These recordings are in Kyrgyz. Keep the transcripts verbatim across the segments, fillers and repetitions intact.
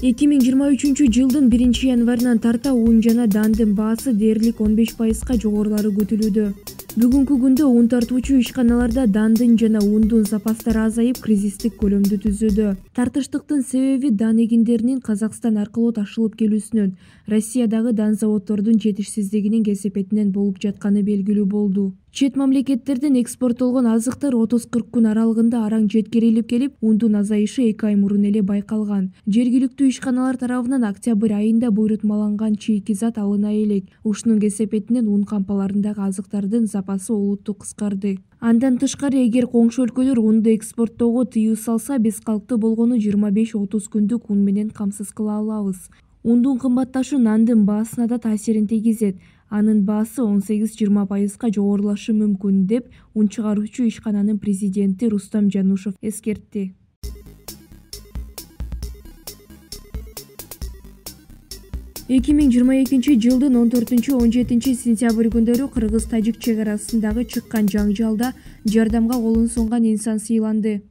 эки миң жыйырма үчүнчү жылдын биринчи январынан тарта ун жана дандын баасы дээрлик он беш пайызга жогорулары күтүлүүдө. Бүгүнкү күндө ун тартуучу ишканаларда дандын жана ундун запастары азайып, кризистик көлөмдү түзүүдө. Тартыштыктын себеби дан эгиндеринин Казакстан аркылуу ташылып келүүсүнөн, Россиядагы дан заводдордун жетишсиздигинин кесепетинен болуп жатканы белгилүү болду. Чет мамлекеттерден экспорттолгон азыктар отуз кырк күн аралыгында араң жеткирилип келип, ундун азайышы эки ай мурун эле байкалган. Жергиликтүү ишканалар тарабынан октябрь айында буйрутмаланган чийки зат алына элек. Ушунун кесепетинен ун кампаларындагы азыктардын запасы олуттуу кыскарды. Андан тышкары, эгер коңшу өлкөлөр унду экспорттоого тыюу салса, биз калктуу болгону жыйырма беш отуз күндүк ун менен камсыз кыла алабыз. Ундун кымбатташы нандын баасына да таасирин тийгизет. Анын баасы он сегиз жыйырма пайызга жогорулашы мүмкүн, деп ун чыгаруучу ишкананын президенти Рустам Жанушев эскертти. эки миң жыйырма экинчи жылдын он төртүнчү он жетинчи сентябрь күндөрү кыргыз-тажик чек арасындагы чыккан жаңжалда жардамга колун сунган инсан сыйланды.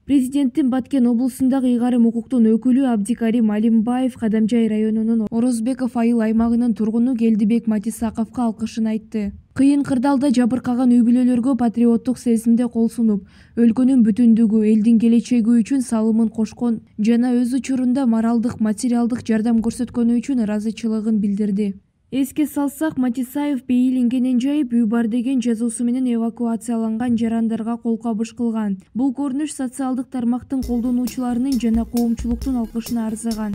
Президенттин Баткен облусундагы ыйгарым укуктун өкүлү Абдикарим Алимбаев Кадамжай районунун Орозбеков айыл аймагынын тургуну Келдибек Матисаковго алкышын айтты. Кыйын кырдаалда жабыркаган үй бүлөлөргө патриоттук сезимде кол сунуп, өлкөнүн бүтүндүгү, элдин келечеги үчүн салымын кошкон жана өз учурунда моралдык, материалдык жардам көрсөткөнү үчүн ыраазычылыгын билдирди. Эске салсак, Матисаев бейилингенен жайып, үй бар деген жазуусу менен эвакуацияланган жарандарга кол кабыш кылган. Бул көрүнүш социалдык тармактын колдонуучуларынын жана коомчулуктун алкышына арзыган.